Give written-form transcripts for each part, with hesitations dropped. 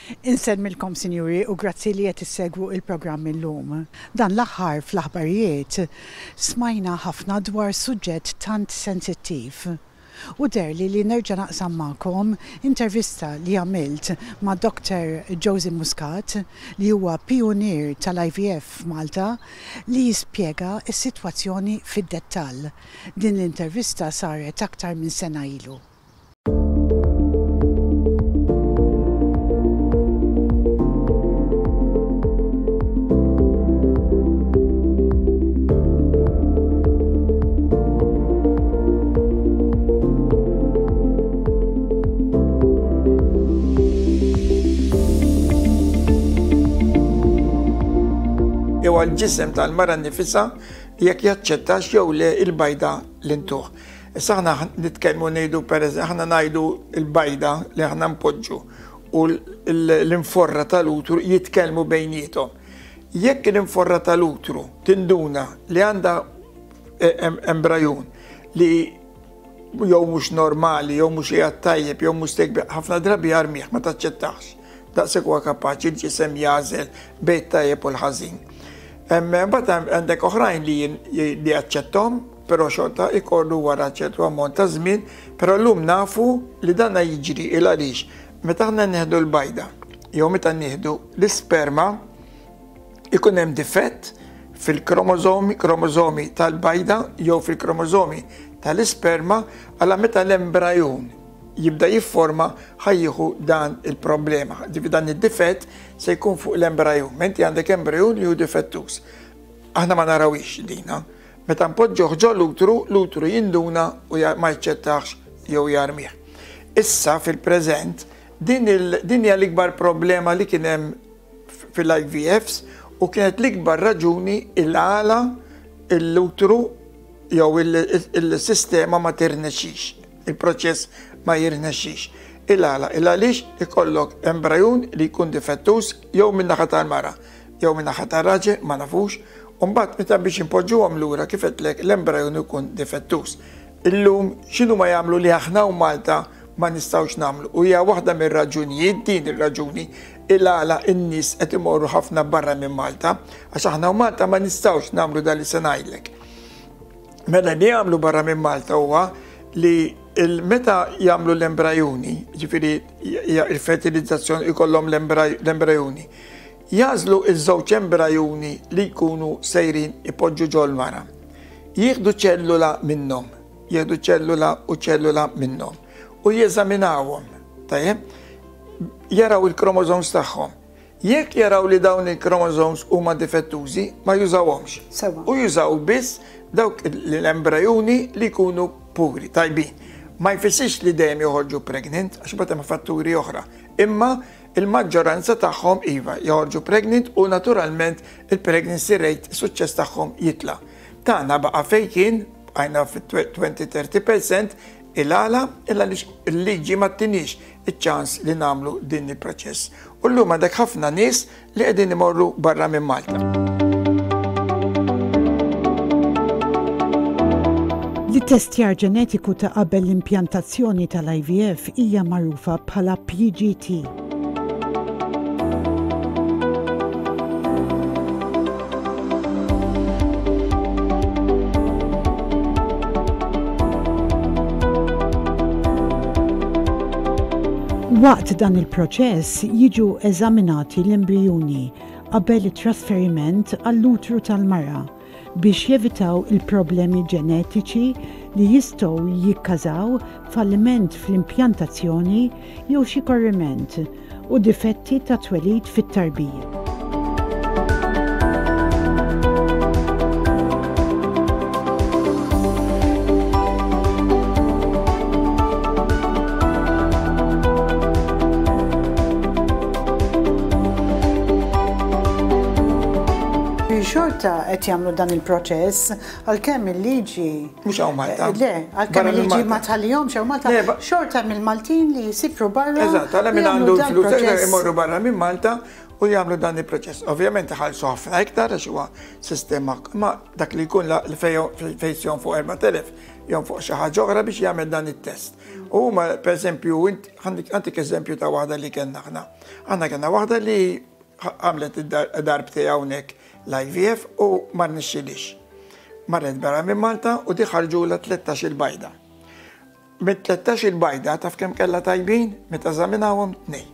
Insellmilkom sinjuri u grazzi li qed issegwu il-programm illum. Dan l-aħħar fl-aħbarijiet smajna ħafna dwar suġġett tant sensittiv. U deherli li nerġa' naqsam magħkom intervista li għamilt ma' Dr. Josey Muscat li huwa pijunier tal-IVF f'Malta li jispjega s-sitwazzjoni fid-dettall. Din l-intervista saret aktar minn sena ilu. Jew għall-ġisem tal-mara nnifisha jekk jaċċettax jew le il-bajda li ntuh. Issa aħna nitkellmu ngħidu pereżempju aħna ngħidu l-bajda li aħna npoġġu u l-inforra tal-utru jitkellmu bejniethom. Jekk l-inforra tal-utru tinduna li għandha e, embrajun li jew mhux normali, jew mhux qiegħed tajjeb, jew mhux tekbi, ħafna drabi jarmih ma taċċettax. Daqshekk huwa kapaċi l-ġisem jagħżel bejn tajjeb u l-ħażin. Mbagħad għandek oħrajn li jaċċettom, però xorta ikollu wara ċertu ammont ta' żmien, però llum nafu li dana jiġri il għaliex meta aħna nieħdu l-bajda jew meta nieħdu l-isperma ikun hemm difett fil-kromożomi, kromożomi tal-bajda jew fil-kromożomi tal-isperma għala meta l-embrajun jibda jifforma ħa jieħu dan il-problema. Ġifieri dan id-difett se jkun fuq l-embrajun. Menti għandek embrajun li hu difettuż. Aħna ma narawhiex dina. Meta npoġġuh ġo l-utru, l-utru jinduna u ma jaċċettahx jew jarmih. Issa fil-preżent din hija l-ikbar problema li kien hemm fil-IVFs u kienet l-ikbar raġuni il-għala l-utru jew il-sistema ma tirnexxix, il-proċess ma jirnexxix. Il-għala, il-għaliex ikollok embrajun li jkun difettuż jew min-naħa tal-mara jew min-naħa tar-raġel, ma nafux, u mbagħad meta biex inpoġġuhom lura kif għedtlek l-embrajun ikun difettuż. Illum x'inhuma jagħmlu li aħna hawn Malta ma nistgħux nagħmlu u hija waħda mir-raġunijiet, din ir-raġuni, il-għala n-nies qed imorru ħafna barra minn Malta, għax aħna hawn Malta ma nistgħux nagħmlu dan li se ngħidlek. Mela li jagħmlu barra minn Malta huwa li meta jagħmlu l-embrajuni, ġifieri il-fertilizzazzjoni ikollhom l-embrajuni, Jagħżlu ż-żewġ embrajuni li jkunu sejrin ipoġġu ġol-mara. Jieħdu ċellula minnhom, jieħdu ċellula u ċellula minnhom u jeżaminawhom, tajjeb? Jaraw il-chromosomes tagħhom. Jekk jaraw li dawn il-chromosomes huma difettużi, ma jużawhomx. Sewwa. U jużaw biss dawk l-embrajuni li jkunu puri, tajbin. Ma jfissirx li dejjem joħorġu pregnant, għax imbagħad hemm fatturi oħra. Imma Il-maġġoranza tagħhom iva, joħorġu pregnant u naturalment il-pregnancy rate, is-suċċess tagħhom jitla'. Tagħna baqa' fejn kien, bqajna fit-20-30 percent, il-għala? Il-għaliex il-liġi ma ttiniex iċ-ċans li nagħmlu din il-proċess. U llum għandek ħafna nies li qegħdin imorru barra minn Malta. L-ittestjar ġenetiku ta' qabel l-impjantazzjoni tal-IVF hija magħrufa bħala PGT. Waqt dan il-proċess jiġu eżaminati l-embrijuni qabel it-trasferiment għall-utru tal-mara biex jevitaw il-problemi ġenetiċi li jistgħu jikkażaw falliment fl-impjantazzjoni jew xi korriment u difetti ta' twelid fit-tarbija. Xorta qed jagħmlu dan il-proċess għalkemm il-liġi. Mhux hawn Malta. Le, għalkemm il-liġi ma tħallihomx hawn Malta. Xorta mill-Maltin li jsifru barra. Eżatt, għalhekk min għandu l-flus imorru barra minn Malta u jagħmlu dan il-proċess. Ovvjament iħallsu ħafna iktar għax huwa sistema, ma dak li jkun li fejn fuq 4000. jonfoq xi ħaġa oħra biex jagħmel dan it-test. U huma pereżempju, għandik eżempju ta' waħda li kellna aħna. Aħna kellna waħda li għamlet id-darbtej hawnhekk l-IVF u ma rnexxilix. Marret barra minn Malta u di ħarġulha 13 il-bajda. Mit 13 il-bajda taf kemm kellha tajbin meta eżaminawhom tnej.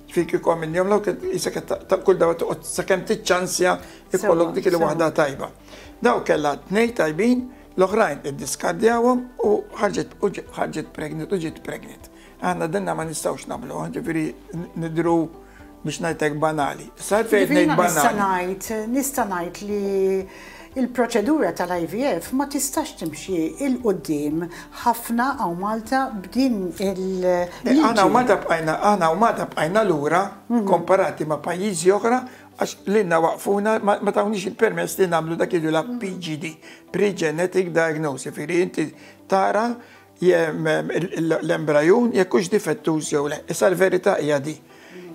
Ġifieri kieku għamilniehom l isek kull darba toqgħod sakemm tiċċansja ikollok dik il-waħda tajba. Daw kellha tnej tajbin, l-oħrajn iddiskardjawhom u ħarġet ħarġet pregnant u ġiet pregnant. Aħna dinna ma nistgħux nagħmluha, ġifieri nidhru biex ngħidlek banali. Issa għalfejn qed ngħid banali. Nista' ngħid, nista' ngħid li l-proċedura tal-IVF ma tistax timxi 'l quddiem ħafna hawn Malta b'din il-liġi. Aħna hawn Malta bqajna, aħna hawn Malta bqajna lura komparati ma' pajjiżi oħra għax lilna waqfuna ma tawniex il-permess li nagħmlu dak li jgħidulha PGD, pre-genetic diagnosis, jiġifieri inti tara l-embrajun jekk hux difettuż jew le. Issa l-verità hija di.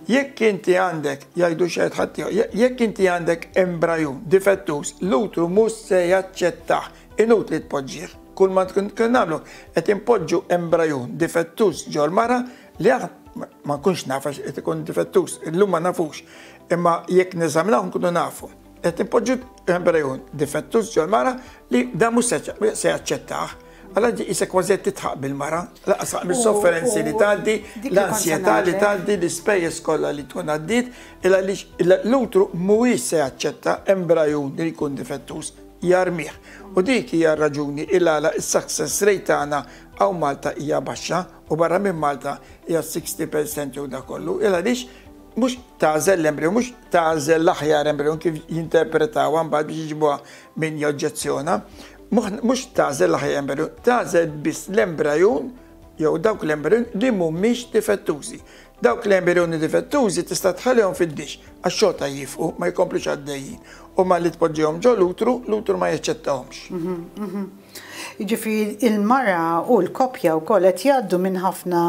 Jekk inti għandek, jgħidu xi ħadd jekk inti għandek embrajun difettuż, l-utru mhux se jaċċettah, inutli tpoġġih. Kull ma tkun nagħmlu qed inpoġġu embrajun difettuż ġol-mara li ma nkunx naf għax qed ikun difettuż, illum ma nafux. Imma jekk neżaminaw nkunu nafu. Qed inpoġġu embrajun difettuż ġol-mara li dan mhux se jaċċettah. Għala ġi kważi qed titħaq bil-mara, laqas mis-sofferenzi li tgħaddi, l-ansjetà li tgħaddi, l-ispejjeż kollha li tkun għaddiet, il għaliex l-utru mhuwiex se jaċċetta embrajun li jkun difettuż, jarmih. U dik hija r-raġuni il għala s-success rate tagħna hawn Malta hija baxxa u barra minn Malta hija 60% jew dak kollu, il għaliex mhux tagħżel l-embriju, mhux tagħżel l-aħjar embriju kif jinterpretawha mbagħad biex jiġibuha min joġġezzjona, mhux tagħżel l-aħjar embriju, tagħżel biss l-embrajun jew dawk l-embrajun li mhumiex difettużi. Dawk l-embrjoni difettużi tista' tħallihom fid-dix għax xorta jifqu ma jkomplux għaddejjin. U malli tpoġġihom ġo l-utru, l-utru ma jaċċettahomx. Mhm, mhm. Jiġifieri il-mara u l-koppja wkoll qed jgħaddu minn ħafna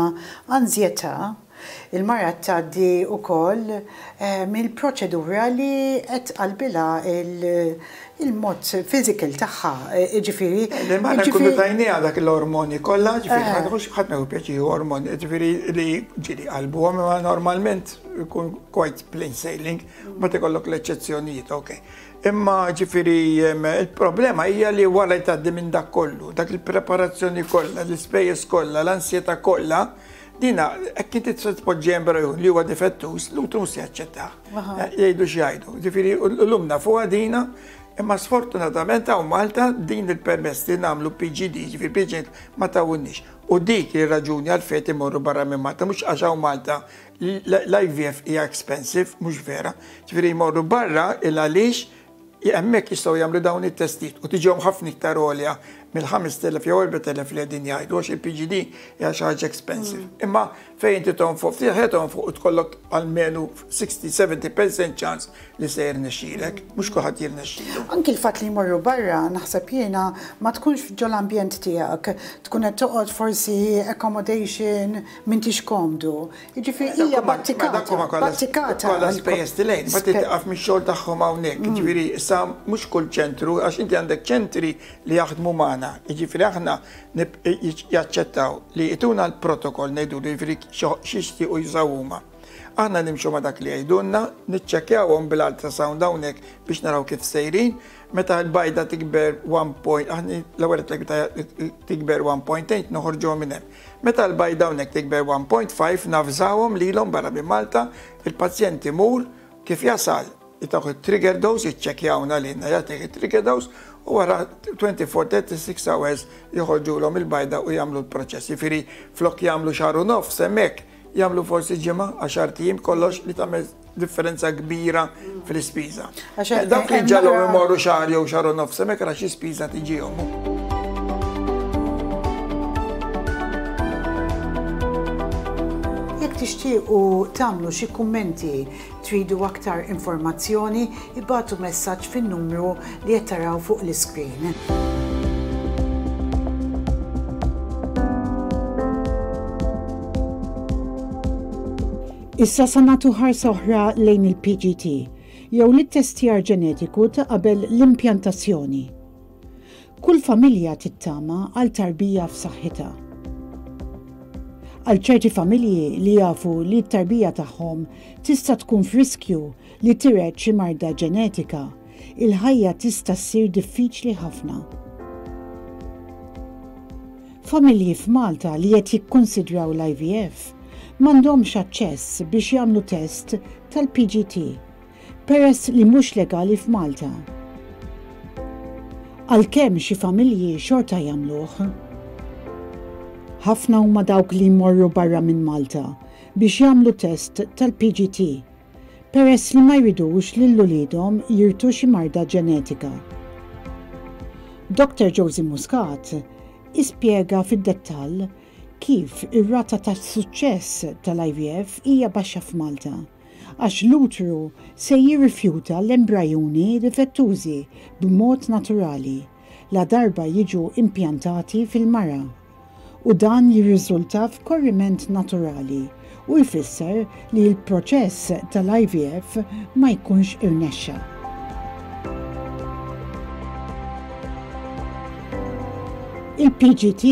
anzjetà Il-mara tgħaddi wkoll mill-proċedura li qed tqallbilha il-mod physical tagħha, jiġifieri. Il-mara nkunu tajniha dak l-ormoni kollha, ġifieri ma tieħux ħadd ma jieħu pjaċir jieħu ormoni, ġifieri li ġieli qalbuhom imma normalment ikun quite plain sailing, mbagħad ikollok l-eċċezzjonijiet, ok. Imma ġifieri il-problema hija li wara li tgħaddi minn dak kollu, dak il-preparazzjoni kollha, l-ispejjeż kollha, l-ansjetà kollha, Dina, hekk inti tista' tpoġġi embrajun li huwa difettuż, l-utru mhux se jaċċettah. Jgħidu x'jgħidu. Ġifieri llum nafuha dina, imma sfortunatament hawn Malta din il-permess li nagħmlu PGD, ġifieri PGD ma tawunniex. U dik hi r-raġuni għalfejn qed imorru barra minn Malta, mhux għax hawn Malta l-IVF hija expensive, mhux vera. Ġifieri jmorru barra il għaliex Hemmhekk jistgħu jagħmlu dawn it-testijiet u tiġihom ħafna iktar għolja mill-5,000 jew 4,000 li qegħdin jgħidu għax il-PGD hija xi ħaġa expensive. Mm. Imma fejn inti tonfoq ftit ħajja tonfoq u tkollok almenu 60-70% ċans li se jirnexxilek, mhux kulħadd jirnexxilu. Anki l-fatt li jmorru barra naħseb jiena ma tkunx ġol-ambjent tiegħek, tkun qed toqgħod forsi accommodation m'intix komdu. Jiġifieri hija battikata. Battikata. Kollha spejjeż tilejn, ma titqaf mix-xogħol tagħhom hawnhekk. Mm. Jiġifieri issa mhux kull ċentru għax inti għandek ċentri li jaħdmu magħna. Jiġifieri aħna jaċċettaw li jtuna l-protokoll ngħidu li jiġifieri x'jixtiequ jużaw huma. Aħna nimxu ma dak li jgħidulna, niċċekkjawhom bil-ultrasound hawnhekk biex naraw kif sejrin. Meta l-bajda tikber 1 point, aħna l-ewwel tikber 1.8 noħorġuhom minn hemm. Meta l-bajda hawnhekk tikber 1.5 navżawhom lilhom barra minn Malta, il-pazjent imur, kif jasal jtawh it-trigger dose, jiċċekkjawna lilna jagħtih it-trigger dose u wara 24, 36 hours joħorġulhom il-bajda u jagħmlu l-proċess. Jiġifieri flok jagħmlu xahar u nofs hemmhekk, jagħmlu forsi ġimgħa, għaxart ijiem kollox li tagħmel differenza kbira fl-ispiża. Eh, dawk li ġalhom imorru xahar jew xahar u nofs hemmhekk ra xi spiża tiġihom. Jekk tixtiequ tagħmlu xi kummenti, tridu aktar informazzjoni, ibagħtu messaġġ fin-numru li qed taraw fuq l-iskrin. Issa sa nagħtu ħarsa oħra lejn il-PGT, jew l-ittestjar ġenetiku ta' qabel l-impjantazzjoni. Kull familja tittama għal tarbija f'saħħitha. Għal ċerti familji li jafu li t-tarbija tagħhom tista' tkun f'riskju li tiret xi marda ġenetika, il-ħajja tista' ssir diffiċli ħafna. Familji f'Malta li qed jikkunsidraw l-IVF m'għandhomx aċċess biex jagħmlu test tal-PGT peress li mhux legali f'Malta. Għalkemm xi familji xorta jagħmluh. Ħafna huma dawk li jmorru barra minn Malta biex jagħmlu test tal-PGT peress li ma jridux lil uliedhom jirtu xi marda ġenetika. Dr. Josie Muscat ispjega fid-dettall kif ir-rata ta' suċċess tal-IVF hija baxxa f'Malta għax l-utru se jirrifjuta l-embrajuni difettużi b'mod naturali ladarba jiġu impjantati fil-mara, u dan jirriżulta f'korriment naturali u jfisser li l-proċess tal-IVF ma jkunx irnexxa. Il-PGT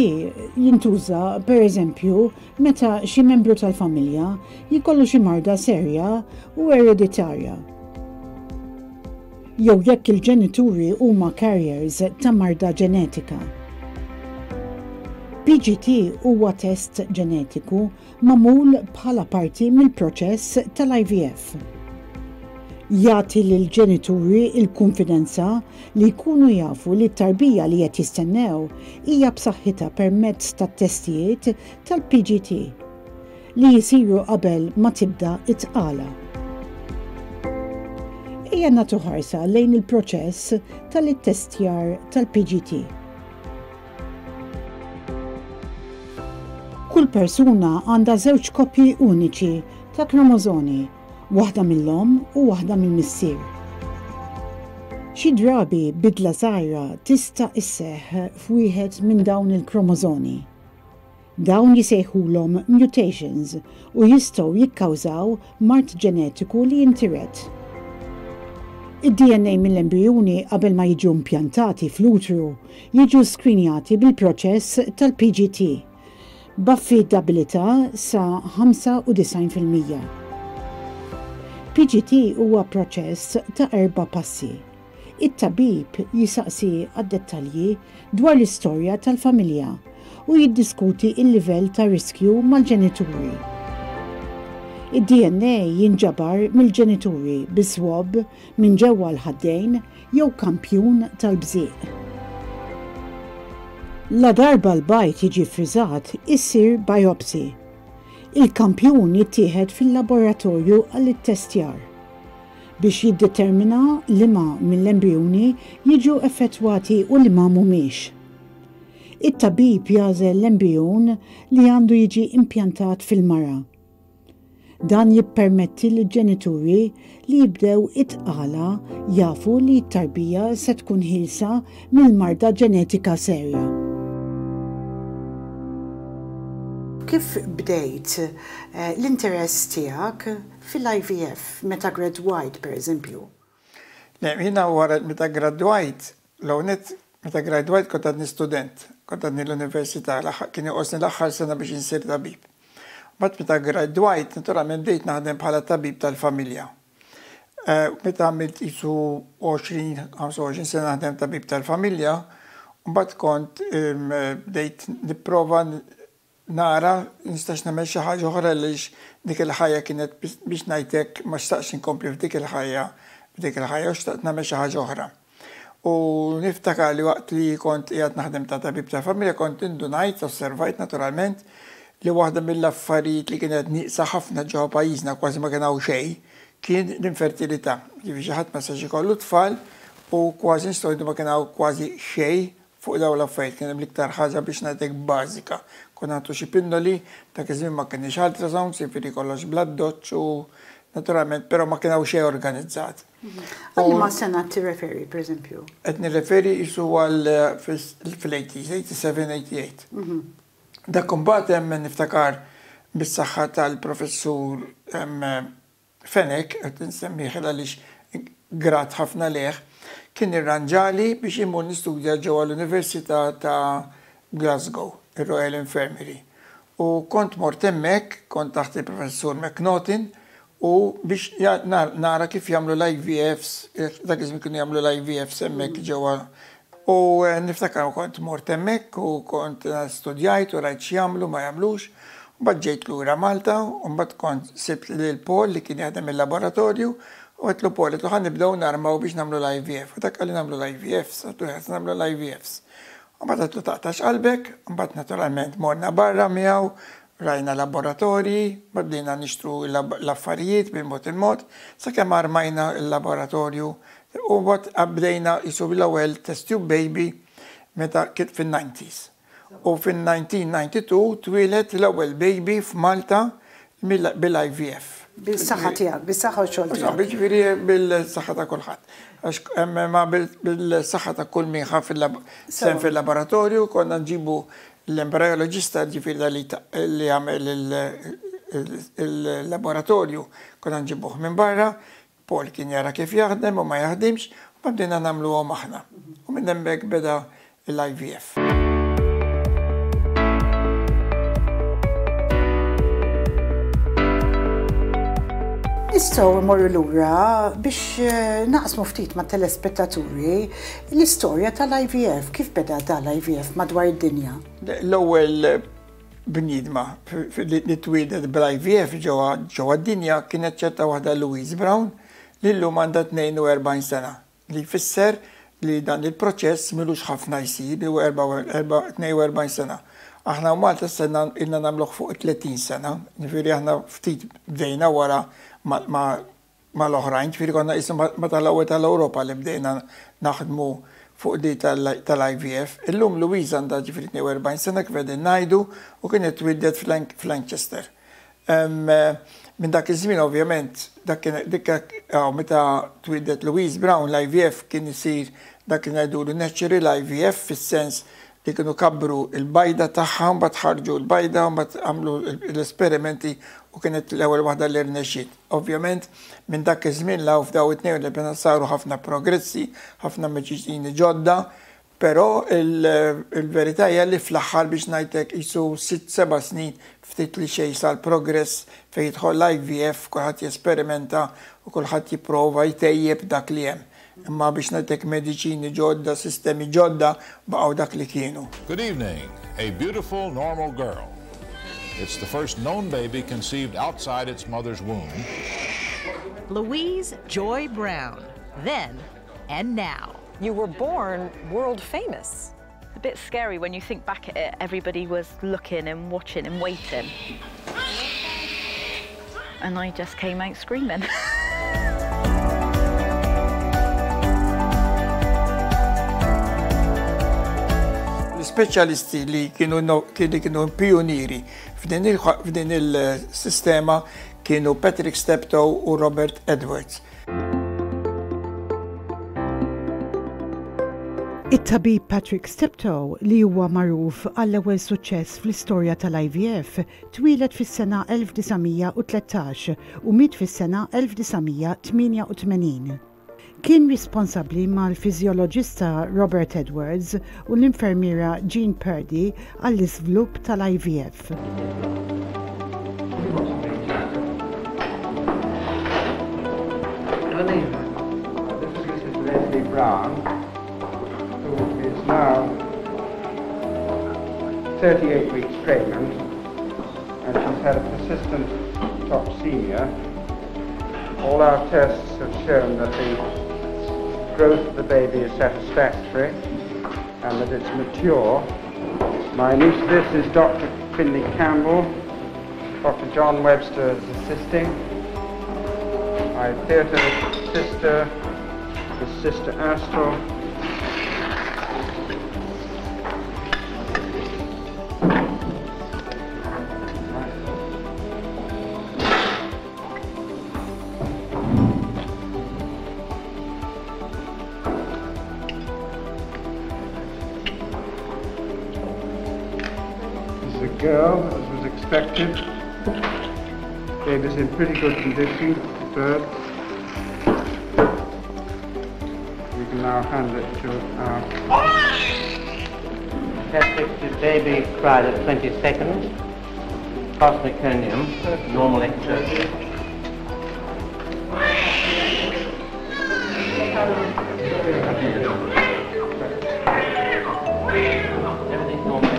jintuża, pereżempju, Meta xi membru tal-familja jkollu xi marda serja u ereditarja, jew jekk il-ġenituri huma carriers ta' marda ġenetika. PGT huwa test ġenetiku magħmul bħala parti mill-proċess tal-IVF. Jagħti lill-ġenituri l-kunfidenza li jkunu jafu li t-tarbija li qed jistennew hija b'saħħitha permezz tat-testijiet tal-PGT li jsiru qabel ma tibda t-tqala. Ejja nagħtu ħarsa lejn il-proċess tal-ittestjar tal-PGT. Kull persuna għandha żewġ koppji uniċi ta' kromożoni waħda mill-omm u waħda mill-missier. Xi drabi bidla żgħira tista' sseħħ f'wieħed minn dawn il-kromożoni. Dawn jisejħulhom mutations u jistgħu jikkawżaw mard ġenetiku li jintiret. Id-DNA mill-embrijuni qabel ma jiġu impjantati fl-utru jiġu skrinjati bil-proċess tal-PGT. B'affidabilità sa 95%. PGT huwa proċess ta' erba' passi. It-tabib jisaqsi għad-dettalji dwar l-istorja tal-familja u jiddiskuti l-livell ta' riskju mal-ġenituri. Id-DNA jinġabar mill-ġenituri bi swab minn ġewwa l-ħaddejn jew kampjun tal-bżieq. Ladarba l-bajd jiġi ffriżat, issir biopsy. Il-kampjun jittieħed fil-laboratorju għall-ittestjar biex jiddetermina liema mill-embrijuni jiġu effettwati u liema mhumiex. It-tabib jagħżel l-embrijun li għandu jiġi impjantat fil-mara. Dan jippermetti lill-ġenituri li jibdew it-tqala jafu li t-tarbija se tkun ħielsa mill-marda ġenetika serja. Kif bdejt l-interess tiegħek fil-IVF meta ggradwajt pereżempju? Le, jiena wara meta ggradwajt, l-ewwel nett meta ggradwajt kont għadni student, kont għadni l-università, kien jonqosni l-aħħar sena biex insir tabib. Mbagħad meta ggradwajt, naturalment bdejt naħdem bħala tabib tal-familja. Eh, meta għamilt qisu 20, 25 sena naħdem tabib tal-familja, mbagħad kont bdejt nipprova nara nistax nagħmel xi ħaġa oħra għaliex dik il-ħajja kienet biex ngħid hekk ma xtaqtx inkompli f'dik il-ħajja f'dik il-ħajja u xtaqt nagħmel xi ħaġa oħra. U niftakar li waqt li kont qiegħed naħdem ta' tabib ta' familja kont indunajt, osservajt naturalment, li waħda mill-affarijiet li kienet nieqsa ħafna ġewwa pajjiżna kważi ma kien hawn xejn kien l-infertilità. Jiġifieri xi ħadd ma setax ikollu tfal u kważi nistgħu ngħidu ma kien hawn kważi xejn Fuq dawn l-affarijiet kien hemm l-iktar ħaġa biex ngħidlek bażika. Konna nagħtu xi pinnoli, dak iż-żmien ma kenniex ultrasounds, jiġifieri kollox bl-addoċċ u naturalment però ma kien hawn xejn organizzat. Għal liema sena tirreferi, pereżempju? Qed nirreferi qisu għal fil-eighties, 87, 88. Dak imbagħad hemm niftakar bis-saħħa tal-professur Fenech, qed insemmih għaliex grat ħafna lejh, kien irranġali biex immur nistudja ġewwa l-Università ta' Glasgow, ir-Royal Infirmary. U kont mort hemmhekk, kont taħt il-Professur McNaughton, u biex nara kif jagħmlu l-IVFs, dak iż-żmien kienu jagħmlu l-IVFs hemmhekk ġewwa. U niftakar kont mort hemmhekk u kont studjajt u rajt x'jagħmlu ma jagħmlux. Mbagħad ġejt lura Malta u mbagħad kont sibt lil Paul li kien jaħdem il-laboratorju u għedtlu Paul, għedtlu ħa nibdew narmaw biex nagħmlu l-IVF. U dak qalli nagħmlu l-IVFs, għedtlu ħa nagħmlu l-IVFs. U mbagħad għedtlu taqtax qalbek, mbagħad naturalment morna barra miegħu, rajna laboratorji, mbagħad bdejna nixtru l-affarijiet bil-mod il-mod, sakemm armajna l-laboratorju u mbagħad bdejna qisu l-ewwel test tube baby meta kien fin-90s. U fin-1992 twieled l-ewwel baby f'Malta bil-IVF. Bis-saħħa tiegħek, bis-saħħa u x-xogħol tiegħek. Jiġifieri bil-saħħa ta' kulħadd. Għax ma bil-saħħa ta' kull min ħa sehem fil-laboratorju, konna nġibu l-embrajoloġista, ġifieri dak li jagħmel il-laboratorju, konna nġibuh minn barra, Paul kien jara kif jaħdem u ma jaħdimx, u mbagħad bdejna nagħmluhom aħna. U minn hemmhekk beda l-IVF. Nistgħu mmorru lura biex eh, naqsmu ftit mat-telespettaturi l-istorja tal-IVF, kif beda dal-IVF madwar id-dinja? L-ewwel bniedma li twieldet bl-IVF ġewwa d-dinja kienet ċerta waħda Louise Brown li llum għandha 42 sena, li jfisser li dan il-proċess m'ilux ħafna jsir, li huwa 42 sena. Aħna hawn Malta issa ilna nagħmluh fuq 30 sena, jiġifieri aħna ftit bdejna wara ma' mal-oħrajn, ġifieri konna qisna ma' tal-ewwel tal-Ewropa li bdejna naħdmu fuq di tal-IVF. Illum Louise għandha ġifieri 42 sena kif qegħdin ngħidu u kienet twieldet f'Lanchester. Minn dak iż-żmien ovvjament dak kien dik meta twieldet Louise Brown l-IVF kien isir dak li ngħidulu natural IVF fis-sens li kienu kabbru l-bajda tagħha mbagħad ħarġu l-bajda mbagħad għamlu l-esperimenti u kienet l-ewwel waħda li rnexxiet. Ovvjament, minn dak iż-żmien 'l hawn f'dawn it-42 saru ħafna progressi, ħafna mediċini ġodda, però l-verità hija li fl-aħħar biex ngħid hekk qisu sitt seba' snin ftit li xejn sar progress fejn jidħol l-IVF, kulħadd jesperimenta u kulħadd jipprova jtejjeb dak li hemm. Imma biex ngħid hekk mediċini ġodda, sistemi ġodda baqgħu dak li kienu. Good evening, a beautiful normal girl. It's the first known baby conceived outside its mother's womb. Louise Joy Brown, then and now. You were born world famous. A bit scary when you think back at it, everybody was looking and watching and waiting. And I just came out screaming. L-ispeċjalisti li kienu li kienu pionieri f'din il-sistema kienu Patrick Steptoe u Robert Edwards. It-tabib Patrick Steptoe, li huwa magħruf għall-ewwel suċċess fl-istorja tal-IVF, twieled fis-sena 1913 u miet fis-sena 1988. Kien responsabbli mal-fiżjoloġista Robert Edwards u l-infermiera Jean Purdy għall-iżvlupp tal-IVF. This is Mrs. Leslie Brown, who is now 38 weeks pregnant, and she's had a persistent toxemia. All our tests have shown that the growth of the baby is satisfactory and that it's mature. My anaesthetist is Dr. Finley Campbell. Dr. John Webster is assisting. My theatre sister is Sister Astral. This is a girl, as was expected. Baby's in pretty good condition at birth. can now hand it to our... Patrick, the baby cried at 20 seconds. Past meconium, normal exertion. Everything's normal.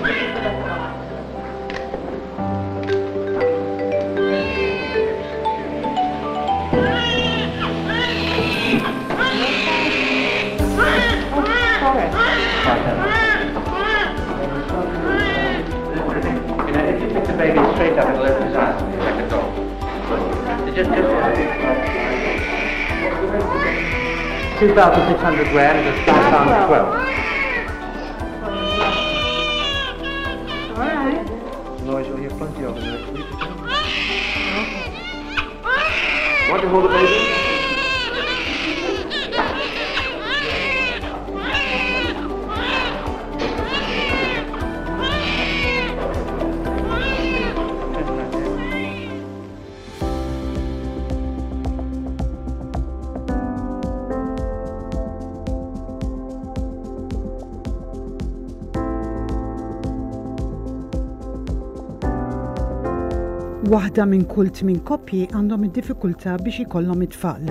You know, if you pick the baby straight up, it'll open his eyes like a dog. Just, just 2,600 grams is 5 pounds 12. All right. Noise you'll hear plenty of in the next week. Want to hold the baby? Waħda minn kull tmin koppji għandhom id-diffikultà biex ikollhom it-tfal.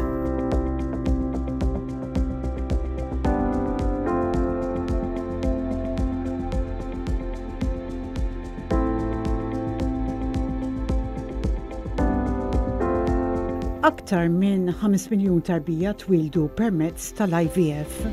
Aktar minn 5 miljun tarbija twieldu permezz tal-IVF.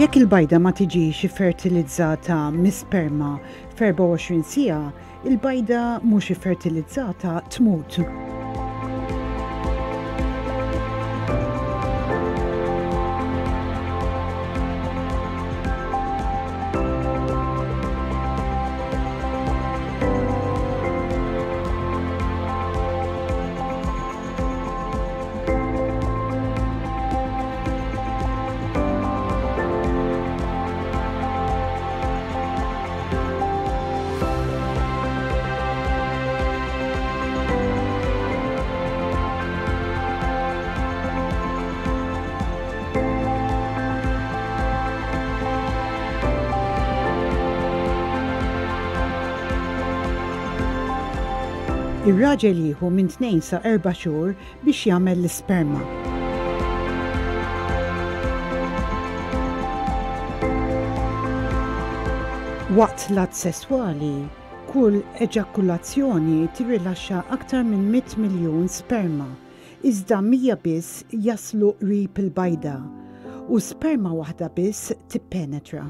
Jekk il-bajda ma tiġix iffertilizzata mis-sperma f'24 siegħa, il-bajda mhux iffertilizzata tmut. Ir-raġel jieħu minn tnejn sa erba' xhur biex jagħmel l-isperma. Waqt l-att sesswali, kull eġakulazzjoni tirrilaxxa aktar minn 100 miljun sperma, iżda 100 biss jaslu qrib il-bajda u sperma waħda biss tippenetra.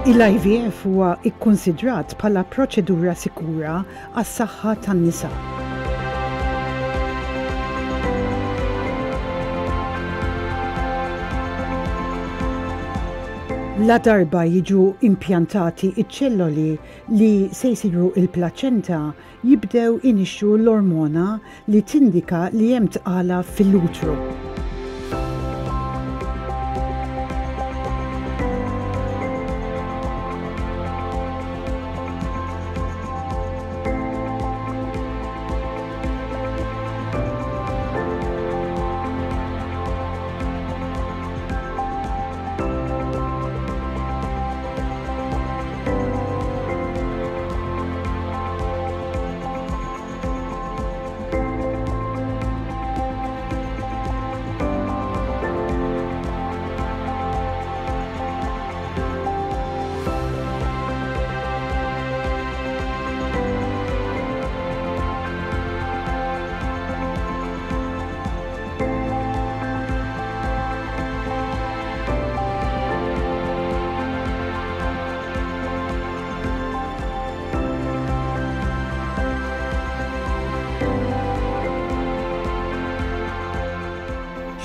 Il-IVF huwa kkunsidrat bħala proċedura sikura għas-saħħa tan-nisa. Ladarba jiġu impjantati ċ-ċelloli li se jsiru l-plaċenta, jibdew inixxu l-ormona li tindika li hemm tqala fil-utru.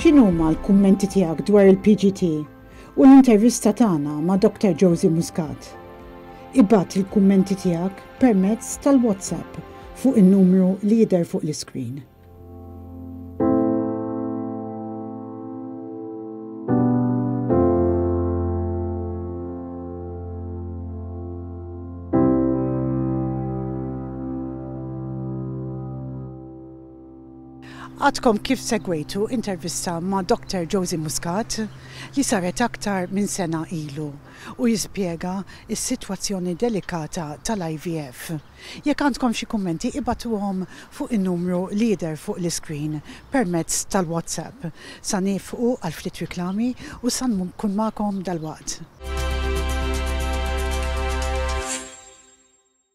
X'inhuma l-kummenti tiegħek dwar il-PGT u l-intervista tagħna ma' Dr. Josie Muscat? Ibgħat il-kummenti tiegħek permezz tal-WhatsApp fuq in-numru li jidher fuq l-iskrin. Għadkom kif segwejtu intervista ma' Dr. Josie Muscat li saret aktar minn sena ilu u jispjega s-sitwazzjoni delikata tal-IVF. Jekk għandkom xi kummenti ibagħtuhom fuq in-numru li jidher fuq l-iscreen permezz tal-WhatsApp. Sa niefqu għal ftit riklami u sa nkun magħkom dalwaqt.